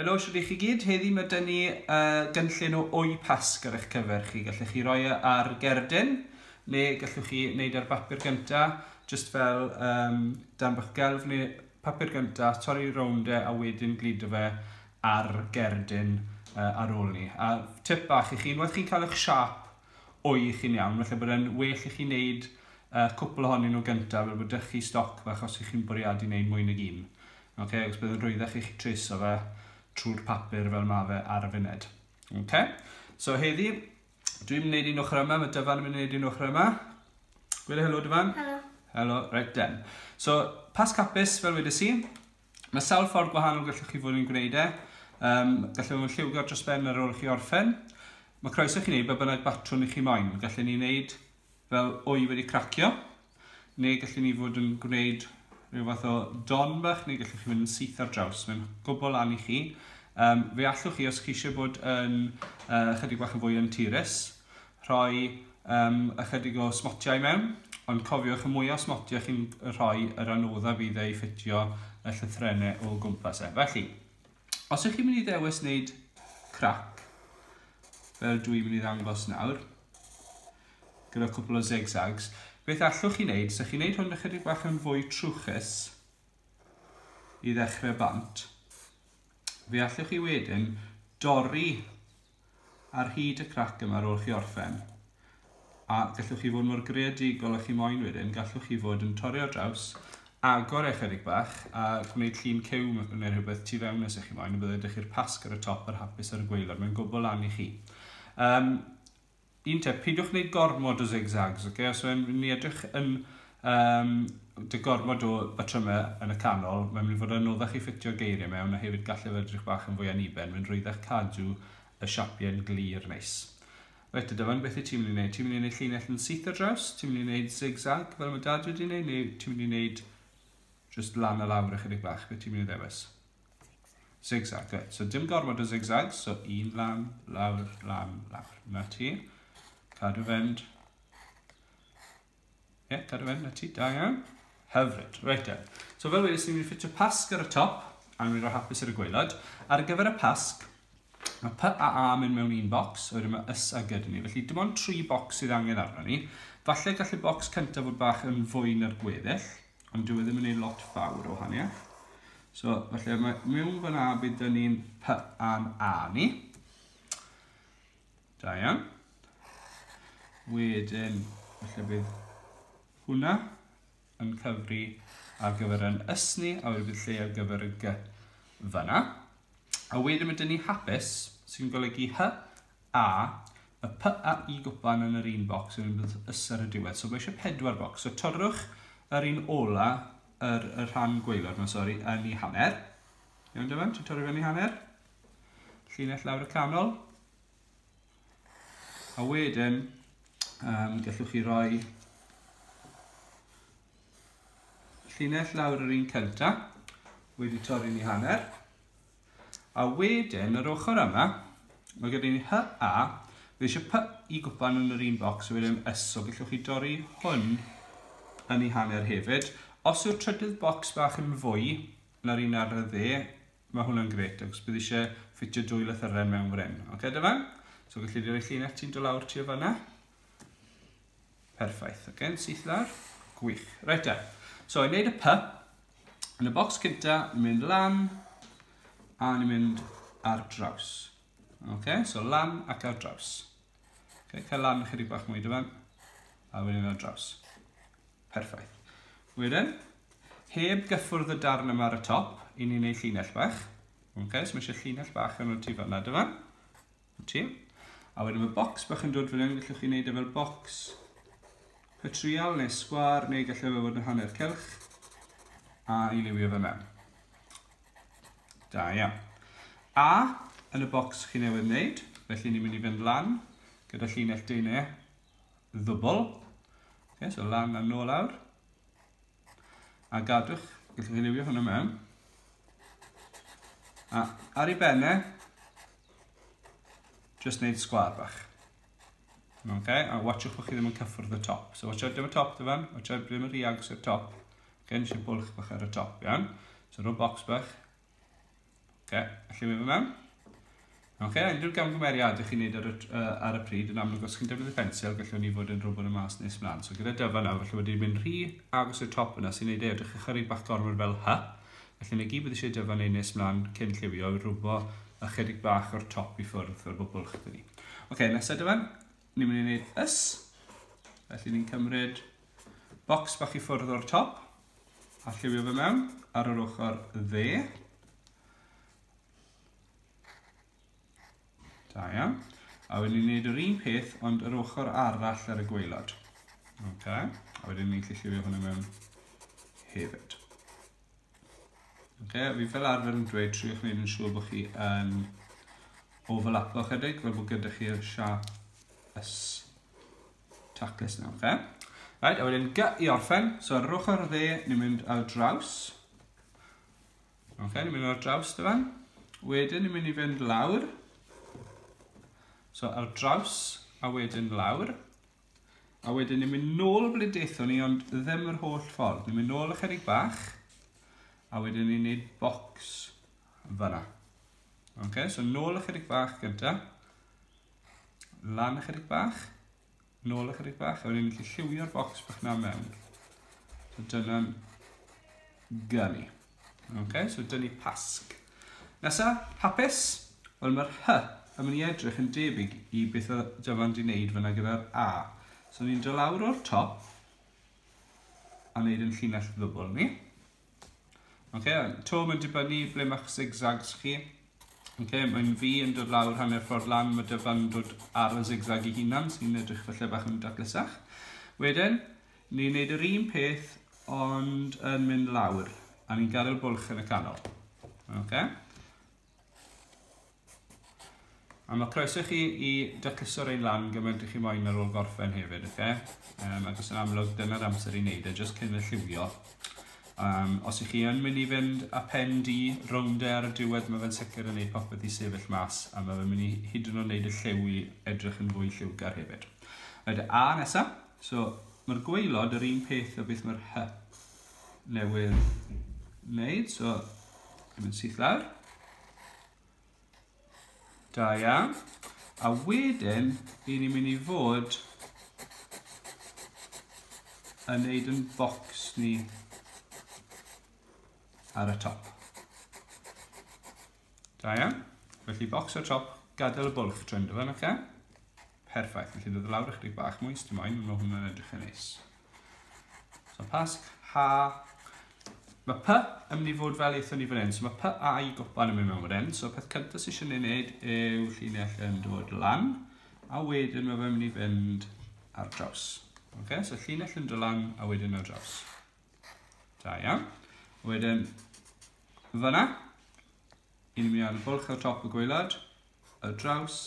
Helo, shwd i chi gyd? Heddi mae dyn ni uh, gynllun o wy pasg ar eich cyfer chi. Gallech chi roi e ar gerdyn, neu gallwch chi wneud ar bapur gynta, just fel um, dan bach gelf, neu papur gynta, torri rownd e a wedyn gludo fe ar gerdyn uh, ar ôl ni. A tip bach i chi, unwaith chi'n cael eich siap wy chi'n iawn, felly bod e'n well i chi wneud uh, cwpl ohonyn nhw gyntaf, fel bod dych chi stoc fach os ych chi'n bwriadu wneud mwy nag un. Okay, os bydd yn rhwyddach i chi treso fe trwy'r papur fel mae fe ar y funud. Okay? So heddi, dwi'n mynd i wneud un ochr yma, mae Dyfan yn mynd i wneud un ochr yma. Gweda helo Dyfan. Helo. Helo, right then. So, Pasg hapus fel wedes i. Mae sawl ffordd gwahanol gallwch chi fod yn gwneud e. Um, gallwch fod yn lliwgar dros ben ar ôl i chi orffen. Mae croeso chi wneud be bynnag batrwn i chi moyn. Gallwn ni wneud fel wy wedi cracio, neu gallwn ni fod yn gwneud rhyw fath o don bach, neu gallwch chi fynd yn syth ar draws. Mae'n gwbl lan i chi. Um, fe allwch chi, os chi eisiau bod yn uh, chydig bach yn fwy anturus, rhoi um, ychydig o smotiau mewn, ond cofiwch y mwyaf smotiau chi'n rhoi, yr anodda fydd ei ffitio y llythrennau o gwmpas e. Felly, os ych chi'n mynd i ddewis wneud crac, fel dwi'n mynd i ddangos nawr, gyda cwpl o zigzags, beth allwch chi wneud, so chi'n wneud hwn ychydig bach yn fwy trwchus i ddechrau bant, fe allwch chi wedyn dorri ar hyd y crac yma ar ôl chi orffen. A gallwch chi fod mor greadigol â chi moyn wedyn, gallwch chi fod yn torri ar draws, agor e chydig bach a gwneud llun cyw neu rhywbeth tu fewn os ych chi moyn, a byddai ydych chi'r pasg ar y top a'r hapus ar y gwaelod, mae'n gwbl lan i chi. Um, un tip, peidiwch wneud gormod o zigzags, okay? Os mae'n mynd i edrych yn um, dy gormod o batrymau yn y canol, mae'n mynd i fod yn anoddach i ffitio geiriau mewn a hefyd gallai fe edrych bach yn fwy aniben, mae'n rhwyddach cadw y siapiau'n glir neis. Reit, Dyfan, beth wyt ti'n mynd i wneud? Ti'n mynd i wneud llinell yn syth ar draws? Ti'n mynd i wneud zigzag fel mae dad wedi wneud? Neu ti'n mynd i wneud just lan a lawr ychydig bach? Beth ti'n mynd i ddewis? Zigzag, right. So dim gormod o zigzags, so un lan, lawr, lan, lawr. Na ti. Cadw fynd. Ie, yeah, cadw fynd, na ti, da iawn. Hyfryd, reit then. So fel wedes, ni'n mynd i ffitio pasg ar y top, a ni'n mynd i roi hapus ar y gwaelod. Ar gyfer y pasg, mae P a A mynd mewn un bocs, a wedyn mae S a G dyn ni. Felly dim ond tri bocs sydd angen arno ni. Falle gall y bocs cyntaf fod bach yn fwy na'r gweddill, ond dyw e ddim yn ei lot fawr o wahaniaeth. So, felly mae mewn fan A bydd dyn ni'n P a'n A ni. Da iawn. Wedyn, felly bydd hwnna yn cyfri ar gyfer yn ys ni, a wedyn bydd lle ar gyfer y G fyna. A wedyn mae dyn ni hapus, sy'n golygu H, A, y P a I gwpan yn yr un bocs, a wedyn bydd ys ar y diwedd. So mae eisiau pedwar bocs. So torrwch yr un ola, yr, y rhan gwaelod yma, sori, yn ei hanner. Iawn, Dyfan, ti'n torri fe'n ei hanner? Llinell lawr y canol. A wedyn, um, gallwch chi roi llinell lawr yr un cynta, wedi torri'n ei hanner. A wedyn, yr ochr yma, mae gyda ni H, A, fi eisiau P i gwpan yn yr un bocs, a wedyn S, so gallwch chi dorri hwn yn ei hanner hefyd. Os yw'r trydydd bocs bach yn fwy na'r un ar y dde, mae hwnna'n gret, achos bydd eisiau ffitio dwy lythyren mewn fan hyn. Oce, okay, Dyfan? So gallu di roi llinell ti'n dod lawr tua fanna. Perffaith. Oce, okay, syth lawr. Gwych. Reit e. So, i wneud y P, yn y bocs cynta, ni'n mynd lan, a ni'n mynd ar draws. Oce, okay, so lan ac ar draws. Okay, cael lan chydig bach mwy dyfan, a wedyn ar draws. Perffaith. Wedyn, heb gyffwrdd y darn yma ar y top, i ni'n neud llinell bach. Okay, so mae eisiau llinell bach yn o'r tu fanna dyma. Ti. A wedyn mae bocs bach yn dod fan hyn, gallwch chi wneud e fel bocs petrial neu sgwar neu gallai fe fod yn hanner cylch a i liwio fe mewn. Da iawn. A yn y bocs chi newydd wneud, felly ni'n mynd i fynd lan gyda llinell deunau ddwbl. Okay, so lan a nôl awr. A gadwch, gallwch chi liwio hwnna mewn. A ar ei benne, just wneud sgwar bach. Okay, a watchwch bod chi ddim yn cyffwrdd y top. So watch out dim y top dyfan, watch out ddim yn rhy agos i'r top. Okay, nes i bwlch bach ar y top, iawn. So rho box bach. Okay, lliwio fe mewn. Okay, unrhyw gamgymeriadau chi'n neud ar y pryd, yn amlwg os chi'n defnyddio pensil, gallwn ni fod yn rhywbeth y mas nes mlaen. So gyda Dyfan nawr, felly wedi mynd rhy agos i'r top yna sy'n neud e edrych ychydig bach gormod fel H. Felly na gyd bydd eisiau Dyfan neud nes mlaen cyn lliwio, rhywbo ychydig bach o'r top i ffwrdd fel bod bwlch dyn ni. Oce, nesaf Dyfan, ni'n mynd i wneud ys. Felly ni'n cymryd bocs bach i ffwrdd o'r top a lliwio fe mewn ar yr ochr dde. Da iawn. A wedyn ni'n gwneud yr un peth, ond yr ochr arall ar y gwaelod. Okay. A wedyn ni'n gallu lliwio hwnna mewn hefyd. Okay. Fi fel arfer yn dweud, triwch wneud yn siŵr bod chi yn overlapo chydig, fel bod gyda chi'r siap ys taclus yna. Okay. Right, a wedyn G i orffen. So ar yr ochr dde, ni'n mynd ar draws. Okay, ni'n mynd ar draws dyfan. Wedyn ni'n mynd i fynd lawr. So ar draws a wedyn lawr. A wedyn ni'n mynd nôl ble daethon ni, ond ddim yr holl ffordd. Ni'n mynd nôl ychydig bach. A wedyn ni'n neud bocs fyna. Okay, so nôl ychydig bach gynta. Lan ychydig bach. Nôl ychydig bach, a wedyn ni'n gallu lliwio'r bocs bach na mewn. So dyna'n gynnu. Okay, so dyn ni pasg. Nesa, hapus. Wel mae'r H yn mynd i edrych yn debyg i beth oedd Dyfan di wneud fyna gyda'r A. So ni'n dod lawr o'r top a wneud yn llinell ddwbl ni. Okay, to mae'n dibynnu ble mae'ch zigzags chi. Okay, mae'n fi yn dod lawr hanner ffordd lan, mae Dyfan yn dod ar y zigzag i hunan, sy'n edrych falle bach yn daclusach. Wedyn, ni'n neud yr un peth, ond yn mynd lawr, a ni'n gadael bwlch yn y canol. Okay. A mae croeso chi i dacluso'r ein lan gymaint i chi moyn ar ôl gorffen hefyd, okay? Ac os yn amlwg, dyna'r amser i wneud e, jyst cyn y lliwio. Os ych chi yn mynd i fynd â pen du rownd e ar y diwedd, mae fe'n sicr yn gwneud popeth i sefyll mas, a mae fe'n mynd i hyd yn oed wneud y lliw i edrych yn fwy lliwgar hefyd. Reit, A nesa. So, mae'r gwaelod yr un peth o beth mae'r H newydd wneud. So, yn mynd syth lawr. Da iawn. A wedyn, i ni'n mynd i fod yn neud yn bocs ni ar y top. Da iawn. Felly bocs ar top, gadael y bwlch trwy'n dyfan, oce? Perffaith. Felly dod lawr ychydig bach mwy, dim moyn, mae hwnna'n edrych yn neis. So pasg, H. Mae P yn mynd i fod fel eithon ni fan hyn, so mae P a i gwpan yn mynd mewn fan hyn. So peth cyntaf sydd eisiau ei wneud yw llinell yn dod lan, a wedyn mae fe'n mynd i fynd ar draws. Okay, so llinell yn dod lan a wedyn ar draws. Da iawn. Wedyn, fyna, i ni'n mynd ar y bwlch ar top y gwaelod, ar draws,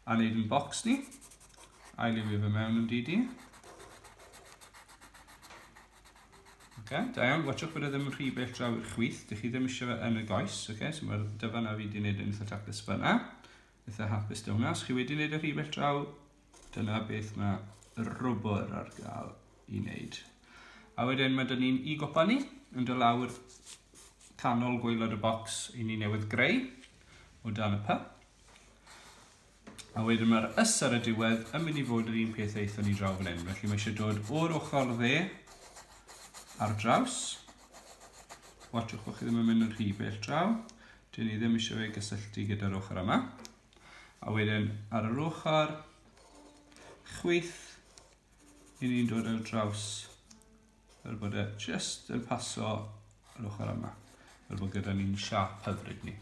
a wneud yn bocs ni. A i liwio fe mewn yn didi. Okay, da iawn, watchwch bod e ddim yn rhy bell draw i'r chwith, dych chi ddim eisiau fe yn y goes, okay? So mae'r dyfan a fi wedi gwneud yn eitha taclus fyna. Eitha hapus dy hwnna. Os chi wedi gwneud y rhy bell draw, dyna beth mae rwbr ar gael i wneud. A wedyn mae dyn ni'n i gopa ni, yn dod lawr canol gwaelod y bocs i ni newydd greu o dan y P. A wedyn mae'r ys ar y diwedd yn mynd i fod yr un peth eithon ni draw fan hyn. Felly mae eisiau dod o'r ochr dde ar draws. Watchwch bod chi ddim yn mynd yn rhy bell draw. Dyn ni ddim eisiau fe gysylltu gyda'r ochr yma. A wedyn ar yr ochr chwith, i ni'n dod ar draws fel bod e just yn paso yr ochr yma. Fel bod gyda ni'n siap hyfryd ni.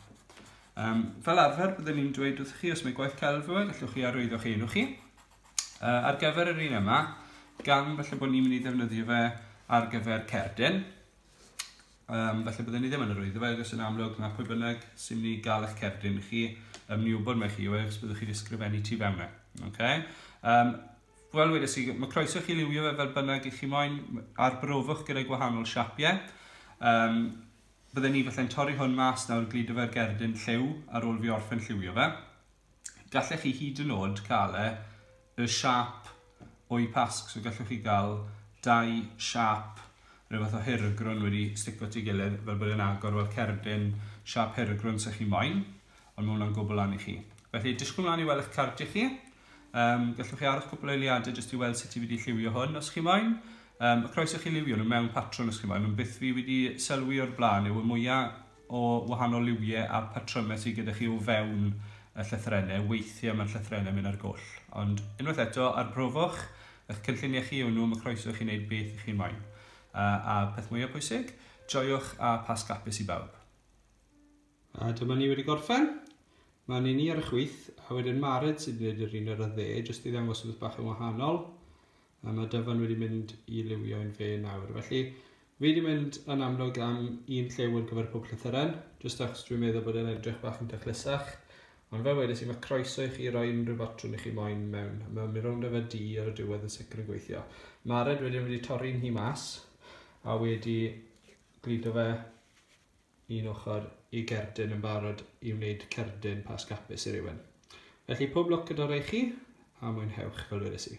Fel arfer, byddwn ni'n dweud wrth chi, os mae gwaith celf yw e, gallwch chi arwyddo'ch enw chi. Ar gyfer yr un yma, gan falle bod ni'n mynd i ddefnyddio fe ar gyfer cerdyn, falle byddwn ni ddim yn arwyddo fe, achos yn amlwg mae pwy bynnag sy'n mynd i gael eich cerdyn chi, yn mynd i wybod mai chi yw e, achos byddwch chi wedi ysgrifennu tu fewn e. Okay? Wel, wedes i, mae croeso chi liwio fe fel bynnag i chi moyn, arbrofwch gyda gwahanol siapiau. Bydden ni falle'n torri hwn mas nawr, gludo fe'r gerdyn lliw ar ôl fi orffen lliwio fe. Gallech chi hyd yn oed cael e y siap o'i pasg, so gallwch chi gael dau siap, rhyw fath o hirgrwn wedi stico at ei gilydd, fel bod e'n agor fel cerdyn siap hirgrwn sy'ch chi moyn, ond mae hwnna'n gwbl lan i chi. Felly, disgwyl mlaen i weld eich cardiau chi. Gallwch chi aros cwpl o eiliadau jyst i weld sut i wedi lliwio hwn os chi moyn. Mae croeso chi liwio nhw mewn patrwn os chi moyn, ond beth fi wedi sylwi o'r blaen yw y mwyaf o wahanol liwiau a patrymau sydd gyda chi o fewn y llythrennau, weithiau mae'r llythrennau mynd ar goll. Ond unwaith eto, arbrofwch, eich cynlluniau chi yw nhw, mae croeso i chi wneud beth i chi'n moyn. A peth mwyaf pwysig, joiwch a Pasg hapus i bawb. A dyma ni wedi gorffen. Mae'n un i ar y chwith, a wedyn Mared sydd wedi gwneud yr un ar y dde, jyst i ddangos rhywbeth bach yn wahanol. A mae Dyfan wedi mynd i liwio un fe nawr. Felly, fi wedi mynd yn amlwg am un lliw ar gyfer pob llythyren, jyst achos dwi'n meddwl bod e'n edrych bach yn daclusach. Ond fel wedes i, mae croeso i chi roi unrhyw batrwn i chi moyn mewn. Mae mynd rownd efo du ar y diwedd yn sicr yn gweithio. Mared wedyn wedi torri'n hi mas, a wedi gludo fe un ochr i gerdyn yn barod i wneud cerdyn Pasg hapus i rywun. Felly pob lwc gyda rhai chi, a mwynhewch fel wedes i.